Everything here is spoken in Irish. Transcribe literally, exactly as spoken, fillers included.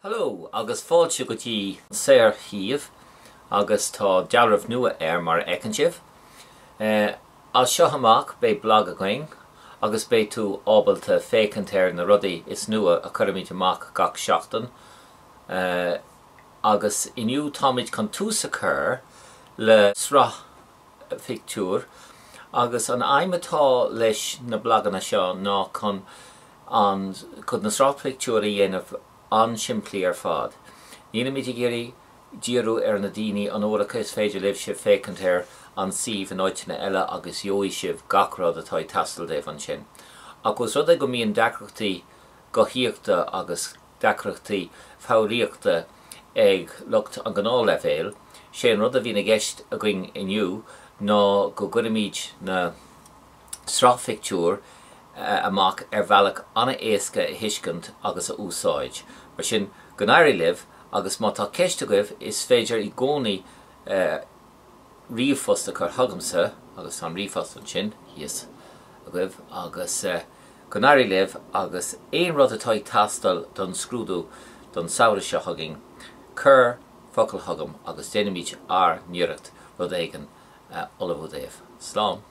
Hello agus fáilte go dtí saorshuíomh agus tá dealramh nua air mar a fheiceann sibh. Uh, as seo amach beidh blag againn agus beidh tú ábalta féachaint ar na rudaí is nua a chuirimid amach gach seachtain. Uh, agus inniu táimid chun tús a chur le sraith pictiúr agus an aidhm atá leis na blaganna seo ná chun an chun na sraith pictiúr a dhéanamh an-simplí ar fad. Nílimid ag iarraidh díriú ar na daoine an-óga is féidir libh sibh féachaint ar an suíomh in áiteanna eile agus gheobhaidh sibh gach rud atá ag teastáil daoibh ansin. Ach os rud é go mbíonn deacrachtaí guthaíochta agus deacrachtaí foghraíochta ag lucht an gnáthleibhéil, sé an rud a bhíonn i gceist againn inniu ná go gcuirimid na sraith phictiúr amach ar bhealach an-éasca a thuiscint agus a úsáid. Mar sin go n-éirí libh agus má tá ceist agaibh is féidir i gcónaí ríomhphost a chur chugamsa agus tá an ríomhphost ansin thíos agaibh agus go n-éirí libh agus aon rud atá ag teastáil don scrúdú don samhradh seo chugainn, cuir focal chugam agus déanfaimid ár n-iarracht rud éigin a ullmhú daoibh. Slán.